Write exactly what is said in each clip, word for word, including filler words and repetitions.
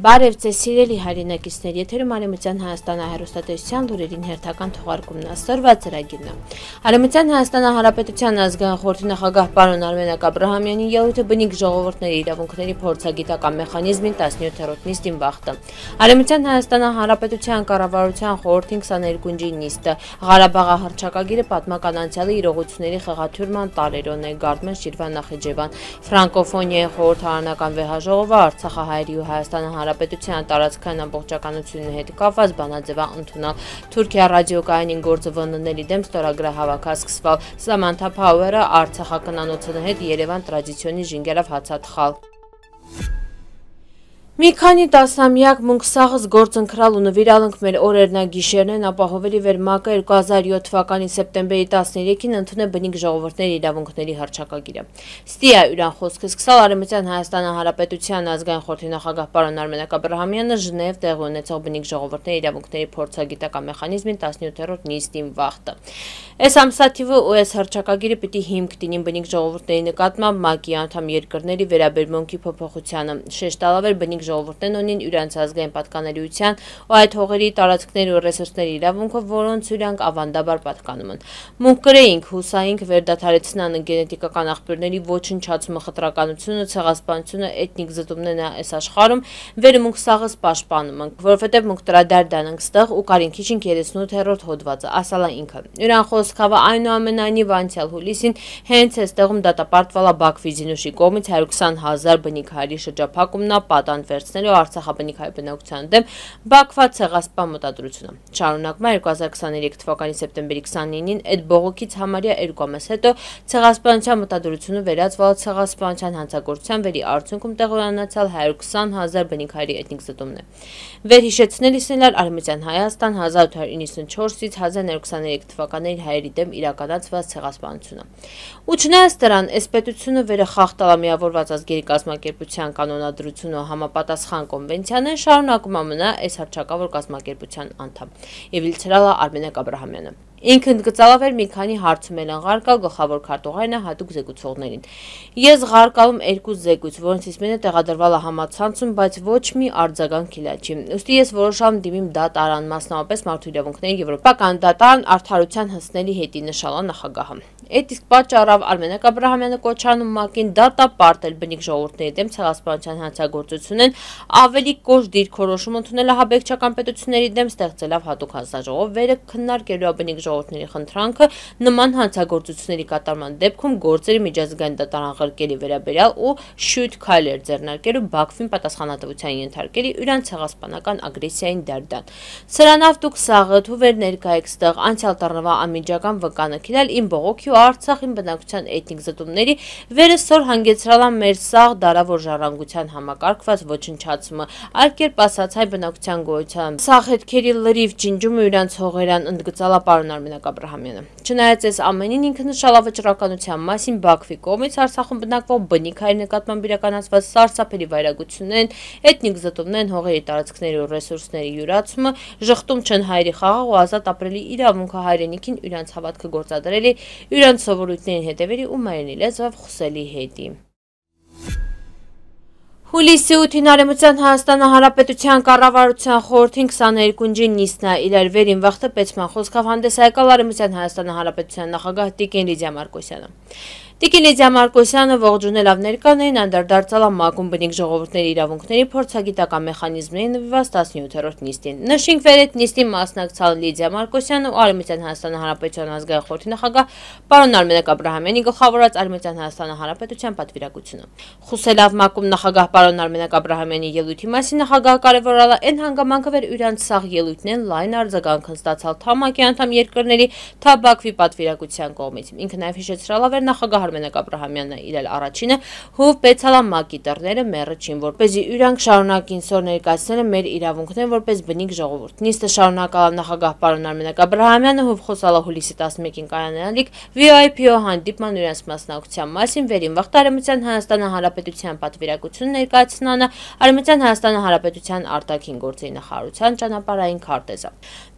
Բարև ձեզ սիրելի հայրենակիցներ, եթերում Արևմտյան Հայաստանի հեռուստատեսության լուրերին հերթական թողարկումն է, սրված ծրագիրն է։ Արևմտյան Հայաստանի Հանրապետության ազգային խորհրդի նախագահ պարոն Արմենակ Աբրահամյանի ելույթը բնիկ ժողովուրդների իրավունքների փորձագիտական մեխանիզմին տասնյոթերորդ նիստին բախտը։ Արևմտյան Հայաստանի Հանրապետության կառավարության խորհրդի քսաներկունջի նիստը Ղարաբաղի հռչակագիրը պատմական անցյալի իրողությունների խեղաթյուրման տարերոն է, Գարդմեն Շիրվան Նախիջևան, ֆրանկոֆոնիայի խորհրդարանական վեհաժողովը Արցախահայերի ու Հայաստանի Հանրապետության տարածքային ամբողջականությունների հետ կապված բանաձևը ընդունել, Թուրքիա ռադիոկայանին գործը վննելի դեմ ստորագրահավաք սկսվել, Սամանթա Փաուերը Արցախականանոցի հետ Երևան տրադիցիոնի ժինգերով հացաթխալ։ Մի քանի տասնամյակ մունքսաղս գործընկրալ ու նվիրալնք մեր օրերնագիշերն են ապահովելի վերմակը երկու հազար յոթ թվականի սեպտեմբերի տասներեքին ընդունել բնիկ ժողովուրդների իրավունքների հռչակագիրը։ Ստիա յուրան խոսքը սկսալ Արևմտյան Հայաստանի Հանրապետության ազգային խորհրդի նախագահ պարոն Արմենակ Աբրահամյանը Ժնև տեղի ունեցող բնիկ ժողովուրդների իրավունքների փորձագիտական մեխանիզմին տասնյոթերորդ նիստին վախտը։ Այս ամսաթիվը ու այս հռչակագիրը պիտի հիմք դինին բնիկ ժողովուրդների նկատմամբ ՄԱԿ-ի անդամ երկրների վերաբերմունքի փոփոխությանը, շեշտալավեր բնիկ ժողովուրդներն ունին իրենց ազգային պատկանելիության ու այդ հողերի տարածքների ու ռեսուրսների իրավունքը, որոնց իրանք ավանդաբար պատկանում են։ Մունք կրեինք, հուսայինք վերդադարեցնան գենետիկական աղբյուրների ոչնչացումը, խտրականությունը, ցեղասպանությունը, էթնիկ զտումներն այս աշխարհում վերմունքսաղս պաշտպանում ենք, որովհետև մունք տրադարդան ենք ստեղ ու կարինքիչինք երեսունութերորդ հոդվածը, ասալա ինքը։ Յուրան խոսքավը այնուամենայնիվ անցյալ հուլիսին հենց այստեղում դատապարտվալա Բաքվի Զինուշի կողմից հարյուր քսան հազար բնիկ հայերի շրջափակումն պատանդ վերցնելու Արցախաբնիկ հայ բնակության դեմ Բաքվա ցեղասպան մտադրությունը։ Շարունակում է երկու հազար քսաներեք թվականի սեպտեմբերի քսանինին այդ բողոքից համարյա երկու ամիս հետո ցեղասպանության մտադրությունը վերածվել ցեղասպանության հանցագործության վերի արդյունքում տեղի ունեցալ հարյուր քսան հազար բնիկ հայերի էթնիկ զտումն է։ Վերհիշեցնելիս նրան Արևմտյան Հայաստան հազար ութ հարյուր իննսունչորսից հազար նորը քսաներեք թվականների հայերի դեմ իրականացված ցեղասպանությունը։ Ու չնայած դրան, այս պետությունը վերախախտալա միավորված ազգերի կազմակերպության կանոնադրությունը ու համապատասխան կոնվենցիան են շարունակում ամնա այս հռչակավոր կազմակերպության անդամ։ Եվ իլցրալա Արմենակ Աբրահամյանը։ Ինքն գծալավեր մի քանի հարցում էլ ղարկալ գլխավոր քարտուղարն է հատուկ զեկուցողներին։ Ես ղարկալում երկու զեկույց, որոնցից մեկը տեղադրվել է համացանցում, բայց ոչ մի արձագանք չի։ Ուստի ես որոշամ դիմիմ դատարան, մասնավորապես Մարդու իրավունքների եվրոպական դատարան արդարության հասնելի հետի նշալա նախագահը։ Այդ իսկ պատճառով Արմենակ Աբրահամյանը կոչանում ՄԱԿ-ին դատապարտել բնիկ ժողովուրդների դեմ ցեղասպանության հանցագործությունն ավելի կոշտ դիրքորոշում ընդունել ահաբեկչական պետությունների դեմ ստեղծելով հատուկ հանձնաժողով վերը քննարկելու բնիկ ժողովուրդների խնդրանքը նման հանցագործությունների կատարման դեպքում գործերի միջազգային դատարան ղրկելի վերաբերյալ ու շույթ քայլեր ձեռնարկելու Բաքվին պատասխանատվության ենթարկելի յուրան ցեղասպանական ագրեսիային դարդան։ Սրանով դուք սաղըթ ու վեր ներկայեք ստեղ անցյալ տառնվա անմիջական վկանը քիլել իմ բողոքի ու Արցախին բնակության էթնիկ զտումների վերը սոր հանգեցրալա մեր սաղ դարավոր ժառանգության համակարգված ոչնչացումը, այլ կերպ ասած հայ բնակության գոյության սաղ հետքերի լրիվ ջինջումը յուրան ցողերան ընդգծալա պարոն Արմենակ Աբրահամյանը։ Չնայած այս ամենին ինքը նշալա վճռականության մասին Բաքվի կողմից Արցախում բնակվող բնիկ հայերի նկատմամբ իրականացված սարսափելի վայրագություններն, էթնիկ զտումներն, հողերի տարածքների ու ռեսուրսների յուրացումը, ժխտում չեն հայերի խաղաղ ու ազատ ապրելի իրավունքը հայրենիքին իրանց հավատքը գործադրելի, իրանց սովորույթներին հետևելի ու մայրենի լեզվով խոսելի հետի։ Հուլիսի ութին Արևմտյան Հայաստանի Հանրապետության կառավարության խորհրդի քսաներկունջի նիստն է իրար վերին վախտը պետսման խոսքով հանդես եկալ Արևմտյան Հայաստանի Հանրապետության նախագահ Տիկին Լիդիա Մարկոսյանը։ Տիկին Լիդիա Մարկոսյանը ողջունելով ներկաներին անդրադարձալ ՄԱԿ-ում բնիկ ժողովուրդների իրավունքների փորձագիտական մեխանիզմների նվիրված տասնյոթերորդ նիստին։ Նշենք վեր այդ նիստին մասնակցալ Լիդիա Մարկոսյանը ու Արևմտյան Հայաստանի Հանրապետության ազգային խորհրդի նախագահ պարոն Արմենակ Աբրահամյանի գլխավորած Արևմտյան Հայաստանի Հանրապետության պատվիրակությունը։ Խոսելով ՄԱԿ-ում նախագահ պարոն Արմենակ Աբրահամյանի ելույթի մասին նախագահը կարևորել է այն հանգամանքը, որ իրանց սաղ ելույթներն լայն արձագանք են ստացալ թա ՄԱԿ-ի անդամ երկրների, թա Բաքվի պատվիրակության կողմից։ Ինքը նաև հիշեցրել է, որ նախագահ Արմենակ Աբրահամյանն է իրել առաջինը հով պետցալա ՄԱԿ-ի դռները մերը չին, որպեսզի իրանք շարունակին սոր ներկայացնելը մեր իրավունքներն որպես բնիկ ժողովուրդ։ Նիստը շարունակալ նախագահ պարոն Արմենակ Աբրահամյանը հով խոսալա հուլիսի տասնմեկին կայանալիք վի այ պի հանդիպման իրանց մասնակցության մասին վերին վաղ Արևմտյան Հայաստանի Հանրապետության պատվիրակությունը ներկայացնանը Արևմտյան Հայաստանի Հանրապետության արտաքին գործերի նախարարության ճանապարհային քարտեզը։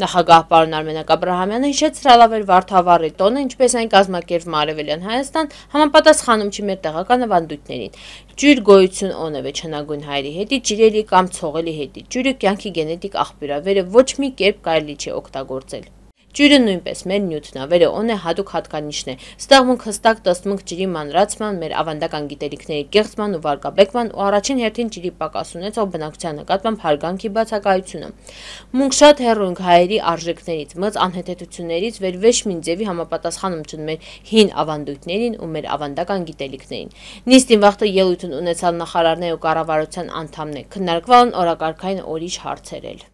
Նախագահ պարոն Արմենակ Աբրահամյանը հիշեցրել է, որ Վարդավառի տոնը, ինչպես այն կազմակերպվում Արևելյան Հայաստան, Համապատասխանում չի մեր տեղական ավանդույթներին։ Ջույր գոյություն ունի չնագույն հայերի հետի, ջրելի կամ ցողելի հետի։ Ջույրը կյանքի գենետիկ աղբյուր է, վերը ոչ մի կերպ կարելի չի օգտագործել։ Ջուրը նույնպես մեր նյութն է, վերը ունի հատուկ հատկանիշն է, ստեղմունք հստակ տստմունք ջրի մանրացման, մեր ավանդական գիտելիքների կեղծման ու վարկաբեկման ու առաջին հերթին ջրի պակաս ունեցող բնակչության նկատմամբ հարգանքի բացակայությունը։ Մունք շատ հեռու ենք հայերի արժեքներից, մծ անհեթեթություններից, վեր ոչ մի ձևի համապատասխանում չուն մեր հին ավանդույթներին ու մեր ավանդական գիտելիքներին։ Նիստին վաղտը ելույթ ունեցալ նախարարներ ու կառավարության անդամներ, քննարկվել են օրակարգային ուրիշ հարցեր էլ։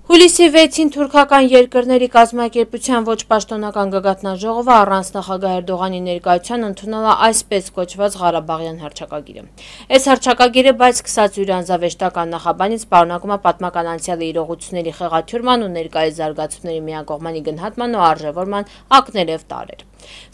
Հուլիսի վեցին թուրքական երկրների կազմակերպության ոչ պաշտոնական գագաթնաժողովը առանց նախագահ Էրդողանի ներկայության ընդունել է այսպես կոչված Ղարաբաղյան հռչակագիրը։ Այս հռչակագիրը բայց սկսած իր անձավեշտական նախաբանից պարունակում է պատմական անցյալի իրողությունների խեղաթյուրման ու ներկայիս զարգացումների միակողմանի գնահատման ու արժևորման ակներև տարրեր։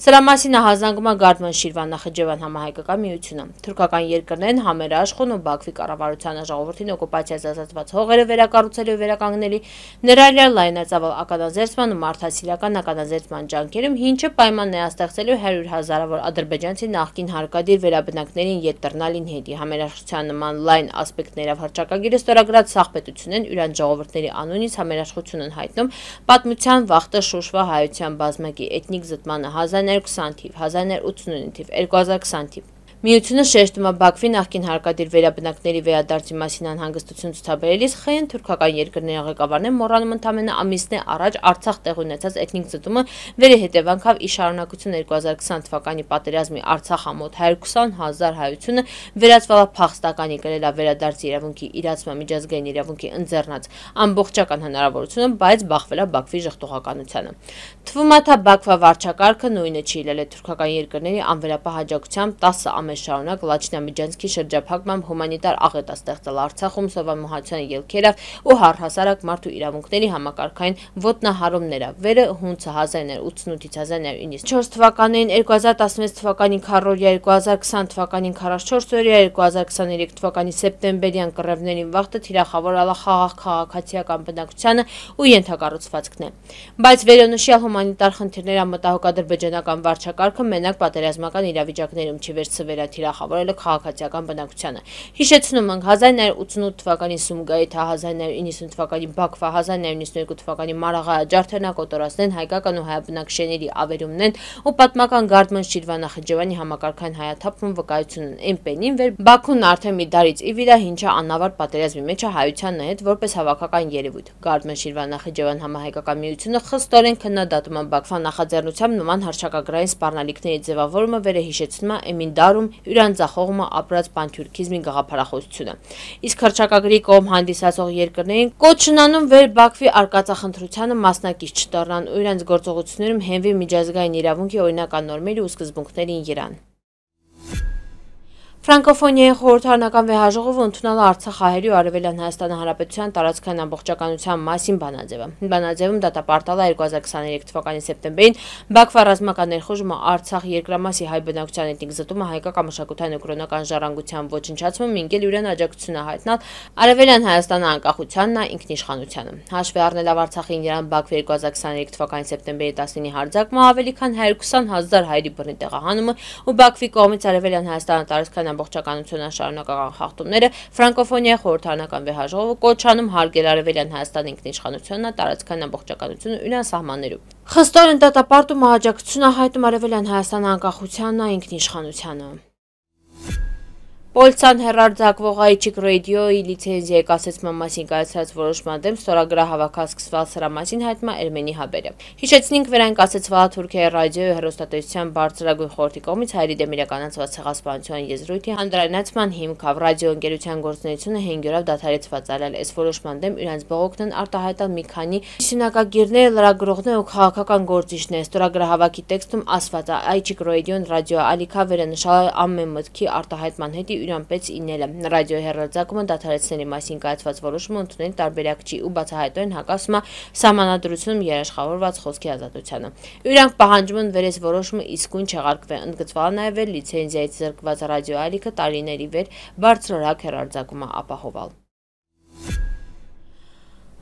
Սրա մասին ահազանգում է Գարդման Շիրվան Նախիջևան համահայկական միությունը։ Թուրքական երկրներն համերաշխուն ու Բաքվի կառավարությանը ժողովրդին օկուպացիայից ազատված հողերը վերակառուցելու վերականգնելի ներառյալ լայնածավալ ականազերծման ու մարդասիրական ականազերծման ջանքերում ինչը պայման նեաստեղծելու հարյուր հազարավոր ադրբեջանցի նախկին հարկադիր վերաբնակներին ետ տրնալին հետի համերաշխության նման լայն ասպեկտներով հռչակագիրը ստորագրած սաղպետությունն իրանց ժողովրդների անունից համերաշխություն են հայտնում պատմության վախտը շուշվա հայության բազմակի էթնիկ զտմանը հազար նոց ութ թիվ, հազար նոց ութսունինը թիվ, երկու հազար քսան թիվ։ Միությունը շեշտում է Բաքվի նախկին հարկադիր վերաբնակների վերադարձի մասին անհանգստություն ցուցաբերելիս խեն թուրքական երկրների ղեկավարներն մոռանում ընդամենը ամիսներ առաջ Արցախ տեղ ունեցած էթնիկ զտումը վերի հետևանքով ի շարունակություն երկու հազար քսան թվականի պատերազմի Արցախ ամոթ հարյուր քսան հազար հայությունը վերածվել է փախստականի կրել է վերադարձի իրավունքի իրացման միջազգային իրավունքի ընձեռնած ամբողջական հնարավորությունը, բայց բախվել է Բաքվի ժխտողականությանը։ Թվում է թե Բաքվա վարչակարգը նույնը չի ելել թուրքական երկրների անվերապահ հաջողությամբ տասը ամիս շարունակ Լաչինամիջանցքի շրջափակմամբ հումանիտար աղետ է ստեղծել Արցախում սովամահացության ելքերով ու առհասարակ մարդու իրավունքների համակարգային ոտնահարումները։ Վերը հունցը հազար նոց ութսունութից հազար նոց իննսունչորս թվականներին, երկու հազար տասնվեց թվականին քառորյա, երկու հազար քսան թվականին քառասունչորս օրյա, երկու հազար քսաներեք թվականի սեպտեմբերյան կռևներին վաղտը թիրախավորել է խաղաղ քաղաքացիական բնակչությանը ու ենթակառուցվածքն է։ Բայց վերոնշյալ հումանիտար խնդիրները մտահոգ ադրբեջանական վարչակարգը մենակ պատերազմական իրավիճակներում չի վերցվել է թիրախավորել քաղաքացիական բնակչությանը։ Հիշեցնում ենք հազար նոց ութսունութ թվականի Սումգայիթը, հազար նոց իննսուն թվականի Բաքվա, հազար նոց իննսունյոթ թվականի Մարաղայ ջարդերնակոտորածներն հայկական ու հայաբնակչների ավերումներն ու պատմական Գարդման Շիրվան Նախիջևանի համակարգային հայաթափում վկայությունն էնպենին վեր Բաքուն արդեն մի դարից ի վիր է ինչը անավարտ պատերազմի մեջ է հայության հետ որպես հավաքական երևույթ։ Գարդման Շիրվան Նախիջևան համահայկական միությունը խստորեն քննադատում է Բաքվա նախաձեռնությամբ նման հռչակագրային սպառնալիքների ձևավորումը վերը հիշեցնում է Էմին Դարում յուրանձախողումը ապրած պանթյուրքիզմի գաղափարախոսությունը։ Իսկ հռչակագրի կողմ հանդիսացող երկրներին կոչն անում վեր Բաքվի արկածախնդրությանը մասնակից չդառնան ու իրենց գործողություններում հենվի միջազգային իրավունքի օրինական նորմերի ու սկզբունքներին երան։ Ֆրանկոֆոնիայի խորհրդարանական վեհաժողովը ընդունել է Արցախ հայերի ու Արևելյան Հայաստանի Հանրապետության տարածքային ամբողջականության մասին բանաձևը։ Բանաձևում դատապարտել է երկու հազար քսաներեք թվականի սեպտեմբերին Բաքվա ռազմական ներխուժումը Արցախ երկրամասի հայ բնակչության էթնիկ զտումը հայկական մշակութային ու կրոնական ժառանգության ոչնչացումը մինչև իրեն աջակցություն է հայտնել Արևելյան Հայաստանի անկախությանն ու ինքնիշխանությանը։ Հաշվի առնելով Արցախին Իրան Բաքվի երկու հազար քսաներեք թվականի սեպտեմբերի տասնինի հարձակումը ավելի քան հարյուր քսան հազար հայերի բռնի տեղահանումը ու Բաքվի կողմից Արևելյան Հայաստանի տարածքային ամբողջականությունը շարունակական խախտումները Ֆրանկոֆոնիայի խորհրդարանական վեհաժողովը կոչանում հարգել Արևելյան Հայաստանի ինքնիշխանությունը, տարածքային ամբողջականությունը իրան սահմաններում։ Խստորեն դատապարտում աջակցություն է հայտնում Արևելյան Հայաստանի անկախությանն ու ինքնիշխանությանը։ Պոլցան հեռարձակվող Aichik Radio-ի լիցենզիայի կասեցման մասին կայացրած որոշման դեմ ստորագրահավաք սկսվել սրա մասին հայտնում է Էրմենի Հաբերը։ Հիշեցնենք վերայն կասեցվա Թուրքիայի ռադիոյի ու հեռուստատեսության բարձրագույն խորհրդի կողմից հայերի դեմ իրականացված ցեղասպանության եզրույթի հանրայնացման հիմքով ռադիոընկերության գործունեությունը հինգ օրով դադարեցված արել։ Այս որոշման դեմ իրենց բողոքն են արտահայտել մի քանի սյունակագիրներ, լրագրողներ ու քաղաքական գործիչներ։ Ստորագրահավաքի տեքստում ասված է Aichik Radio-ն ռադիո ալիքա վերանշալ ամեն մտքի արտահայտման հետ իրան պես ինելը ռադիոյի հեռարձակումը դադարեցնելու մասին կայացված որոշումը ընդունել տարբերակ չի ու բացահայտորեն հակասում է սահմանադրությունում երաշխավորված խոսքի ազատությանը։ Իրանք պահանջում են վեր այս որոշումը իսկույն չեղարկվի, ընդգծվել նաև վեր լիցենզիայից զրկված ռադիո ալիքը տարիների վեր բարձրորակ հեռարձակումը ապահովել։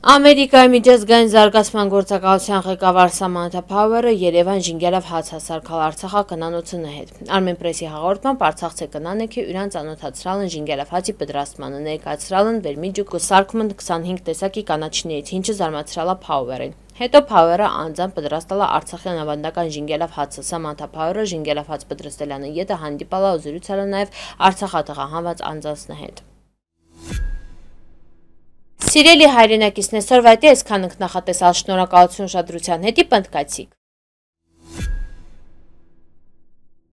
Ամերիկայի միջազգային զարգացման գործակալության ղեկավար Սամանթա Փաուերը Երևան ժինգերավ հաց հասարքալ Արցախա կնանոցունը հետ։ Armenpress-ի հաղորդմամբ Արցախցե կնանեքի իրան ծանոթացրալն ժինգերավ հացի պատրաստմանը ներկայացրալն վերմիջուկ սարքումն քսանհինգ տեսակի կանաչներից, ինչը զարմացրալա Փաուերին։ Հետո Փաուերը անձամբ պատրաստալա Արցախյան ավանդական ժինգերավ հացը։ Սամանթա Փաուերը ժինգերավ հաց պատրաստելանը ետը հանդիպալա ու զրուցալա նաև Արցախատղահանված անձանցն հետ։ Սիրելի հայրենակիցն այսօր վայտի այսքան ենք նախատեսալ, շնորհակալություն ուշադրության հետի պնդկացիք։